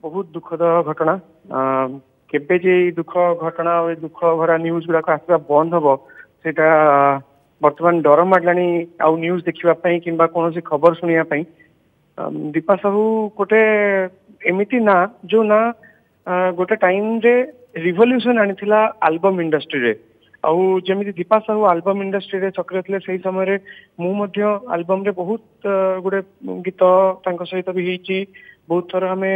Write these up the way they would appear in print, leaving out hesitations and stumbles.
ବହୁତ ଦୁଃଖଦ ଘଟଣା। କେବେ ଯେ ଏଇ ଦୁଃଖ ଘଟଣା ଆଉ ଏଇ ଦୁଃଖ ଭରା ନ୍ୟୁଜ ଗୁଡାକ ଆସିବା ବନ୍ଦ ହବ, ସେଇଟା ବର୍ତ୍ତମାନ ଡର ମାଡ଼ିଲାଣି ଆଉ ନ୍ୟୁଜ ଦେଖିବା ପାଇଁ କିମ୍ବା କୌଣସି ଖବର ଶୁଣିବା ପାଇଁ। ଦୀପା ସାହୁ ଗୋଟେ ଏମିତି ନାଁ, ଯୋଉ ନାଁ ଗୋଟେ ଟାଇମରେ ରିଭଲ୍ୟୁସନ ଆଣିଥିଲା ଆଲବମ ଇଣ୍ଡଷ୍ଟ୍ରିରେ। ଆଉ ଯେମିତି ଦୀପା ସାହୁ ଆଲବମ ଇଣ୍ଡଷ୍ଟ୍ରିରେ ସକ୍ରିୟ ଥିଲେ, ସେଇ ସମୟରେ ମୁଁ ମଧ୍ୟ ଆଲବମରେ ବହୁତ ଗୁଡେ ଗୀତ ତାଙ୍କ ସହିତ ବି ହେଇଛି। ବହୁତ ଥର ଆମେ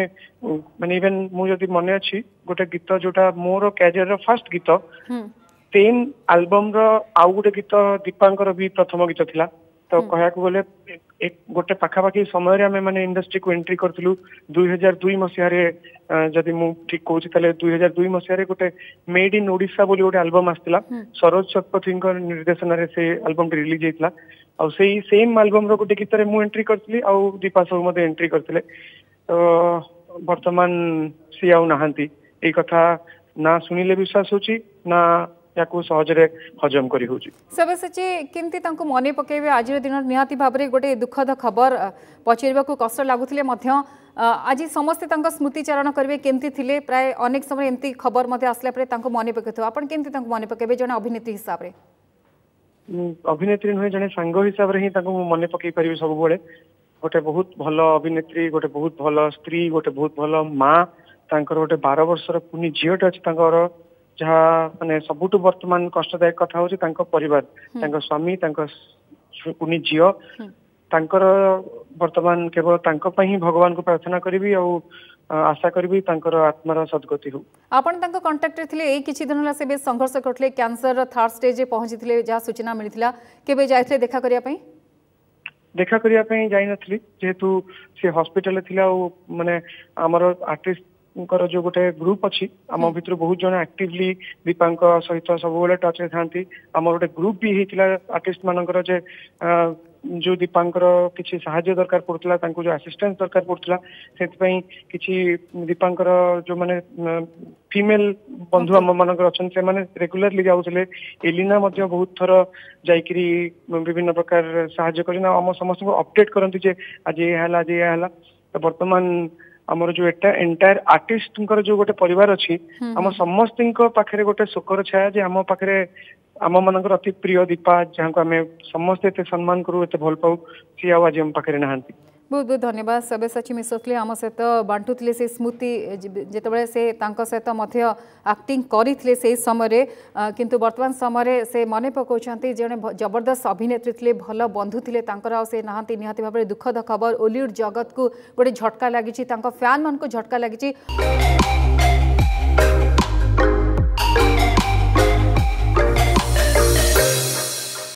ମାନେ ଇଭେନ ମୁଁ ଯଦି ମନେ ଅଛି, ଗୋଟେ ଗୀତ ଯୋଉଟା ମୋର କ୍ୟାରିୟରର ଫାର୍ଷ୍ଟ ଗୀତ, ସେମ୍ ଆଲବମର ଆଉ ଗୋଟେ ଗୀତ ଦୀପାଙ୍କର ବି ପ୍ରଥମ ଗୀତ ଥିଲା। ତ କହିବାକୁ ଗଲେ ଗୋଟେ ପାଖାପାଖି ସମୟରେ ଆମେ ମାନେ ଇଣ୍ଡଷ୍ଟ୍ରିକୁ ଏଣ୍ଟ୍ରି କରିଥିଲୁ। 2002 ମସିହାରେ, ଯଦି ମୁଁ ଠିକ କହୁଛି ତାହେଲେ 2002 ମସିହାରେ ଗୋଟେ ମେଡ୍ ଇନ୍ ଓଡିଶା ବୋଲି ଗୋଟେ ଆଲବମ ଆସିଥିଲା। ସରୋଜ ଶତପଥୀଙ୍କ ନିର୍ଦ୍ଦେଶନାରେ ସେ ଆଲବମଟି ରିଲିଜ ହେଇଥିଲା। ଆଉ ସେଇ ସେମ୍ ଆଲବମର ଗୋଟେ ଗୀତରେ ମୁଁ ଏଣ୍ଟ୍ରି କରିଥିଲି ଆଉ ଦୀପା ସାହୁ ମଧ୍ୟ ଏଣ୍ଟ୍ରି କରିଥିଲେ। ତ ବର୍ତ୍ତମାନ ସିଏ ଆଉ ନାହାନ୍ତି। ଏଇ କଥା ନା ଶୁଣିଲେ ବିଶ୍ୱାସ ହଉଛି, ନା ୟାକୁ ସହଜରେ ହଜମ କରି ହଉଛି। ସବ୍ୟସାଚୀ, କେମିତି ତାଙ୍କୁ ମନେ ପକେଇବେ ଆଜିର ଦିନରେ? ନିହାତି ଭାବରେ ଗୋଟେ ଦୁଃଖଦ ଖବର, ପଚାରିବାକୁ କଷ୍ଟ ଲାଗୁଥିଲେ ମଧ୍ୟ ଆଜି ସମସ୍ତେ ତାଙ୍କ ସ୍ମୃତିଚାରଣ କରିବେ କେମିତି ଥିଲେ। ପ୍ରାୟ ଅନେକ ସମୟ ଏମିତି ଖବର ମଧ୍ୟ ଆସିଲା ପରେ ତାଙ୍କୁ ମନେ ପକାଇଥିବ। ଆପଣ କେମିତି ତାଙ୍କୁ ମନେ ପକେଇବେ ଜଣେ ଅଭିନେତ୍ରୀ ହିସାବରେ? ଅଭିନେତ୍ରୀ ନୁହେଁ, ଜଣେ ସାଙ୍ଗ ହିସାବରେ ହିଁ ତାଙ୍କୁ ମୁଁ ମନେ ପକେଇ ପାରିବି ସବୁବେଳେ। ଗୋଟେ ବହୁତ ଭଲ ଅଭିନେତ୍ରୀ, ଗୋଟେ ବହୁତ ଭଲ ସ୍ତ୍ରୀ, ଗୋଟେ ବହୁତ ଭଲ ମା। ତାଙ୍କର ଗୋଟେ 12 ବର୍ଷର କୁନି ଝିଅଟେ ଅଛି ତାଙ୍କର। ଯାହା ମାନେ ସବୁଠୁ ବର୍ତ୍ତମାନ କଷ୍ଟଦାୟକ କଥା ହଉଛି ତାଙ୍କ ପରିବାର, ତାଙ୍କ ସ୍ୱାମୀ, ତାଙ୍କ କୁନି ଝିଅ ତାଙ୍କର। ବର୍ତ୍ତମାନ କେବଳ ତାଙ୍କ ପାଇଁ ହିଁ ଭଗବାନଙ୍କୁ ପ୍ରାର୍ଥନା କରିବି ଆଉ ଆଶା କରିବି ତାଙ୍କର ଆତ୍ମାର ସଦ୍ଗତି ହଉ। ଆପଣ ତାଙ୍କ କଣ୍ଟାକ୍ଟରେ ଥିଲେ। ଏଇ କିଛି ଦିନ ହେଲା ସେ ବେଶ ସଂଘର୍ଷ କରୁଥିଲେ, କ୍ୟାନ୍ସରର ଥାର୍ଡ ଷ୍ଟେଜରେ ପହଞ୍ଚିଥିଲେ ଯାହା ସୂଚନା ମିଳିଥିଲା। କେବେ ଯାଇଥିଲେ ଦେଖା କରିବା ପାଇଁ? ଦେଖା କରିବା ପାଇଁ ଯାଇନଥିଲି, ଯେହେତୁ ସେ ହସ୍ପିଟାଲରେ ଥିଲା। ଆଉ ମାନେ ଆମର ଆର୍ଟିଷ୍ଟଙ୍କର ଯୋଉ ଗୋଟେ ଗ୍ରୁପ ଅଛି, ଆମ ଭିତରୁ ବହୁତ ଜଣ ଆକ୍ଟିଭଲି ଦୀପାଙ୍କ ସହିତ ସବୁବେଳେ ଟଚରେ ଥାନ୍ତି। ଆମର ଗୋଟେ ଗ୍ରୁପ ବି ହେଇଥିଲା ଆର୍ଟିଷ୍ଟ ମାନଙ୍କର ଯେ ଯୋଉ ଦୀପାଙ୍କର କିଛି ସାହାଯ୍ୟ ଦରକାର ପଡୁଥିଲା, ତାଙ୍କୁ ଯୋଉ ଆସିଷ୍ଟାନ୍ସ ଦରକାର ପଡୁଥିଲା, ସେଥିପାଇଁ କିଛି ଦୀପାଙ୍କର ଯୋଉମାନେ ଫିମେଲ ବନ୍ଧୁ ଆମ ମାନଙ୍କର ଅଛନ୍ତି, ସେମାନେ ରେଗୁଲାରଲି ଯାଉଥିଲେ। ଏଲିନା ମଧ୍ୟ ବହୁତ ଥର ଯାଇକିରି ବିଭିନ୍ନ ପ୍ରକାର ସାହାଯ୍ୟ କରି ଆମ ସମସ୍ତଙ୍କୁ ଅପଡେଟ କରନ୍ତି ଯେ ଆଜି ଏଇଆ ହେଲା, ଆଜି ଏଇଆ ହେଲା। ତ ବର୍ତ୍ତମାନ ଆମର ଯୋଉ ଏଟା ଏଣ୍ଟାୟାର ଆର୍ଟିଷ୍ଟଙ୍କର ଯୋଉ ଗୋଟେ ପରିବାର ଅଛି, ଆମ ସମସ୍ତଙ୍କ ପାଖରେ ଗୋଟେ ଶୋକର ଛାୟା ଯେ ଆମ ପାଖରେ ଆମ ମାନଙ୍କର ଅତି ପ୍ରିୟ ଦୀପା, ଯାହାକୁ ଆମେ ସମସ୍ତେ ଏତେ ସମ୍ମାନ କରୁ, ଏତେ ଭଲ ପାଉ, ସିଏ ଆଉ ଆଜି ଆମ ପାଖରେ ନାହାନ୍ତି। ବହୁତ ବହୁତ ଧନ୍ୟବାଦ। ସବ୍ୟସାଚୀ ମିଶ୍ର ଥିଲେ ଆମ ସହିତ, ବାଣ୍ଟୁଥିଲେ ସେ ସ୍ମୃତି ଯେତେବେଳେ ସେ ତାଙ୍କ ସହିତ ମଧ୍ୟ ଆକ୍ଟିଂ କରିଥିଲେ ସେଇ ସମୟରେ। କିନ୍ତୁ ବର୍ତ୍ତମାନ ସମୟରେ ସେ ମନେ ପକାଉଛନ୍ତି, ଜଣେ ଜବରଦସ୍ତ ଅଭିନେତ୍ରୀ ଥିଲେ, ଭଲ ବନ୍ଧୁ ଥିଲେ ତାଙ୍କର, ଆଉ ସେ ନାହାନ୍ତି। ନିହାତି ଭାବରେ ଦୁଃଖଦ ଖବର। ଓଲିଉଡ୍ ଜଗତକୁ ଗୋଟେ ଝଟକା ଲାଗିଛି, ତାଙ୍କ ଫ୍ୟାନ୍ମାନଙ୍କୁ ଝଟକା ଲାଗିଛି।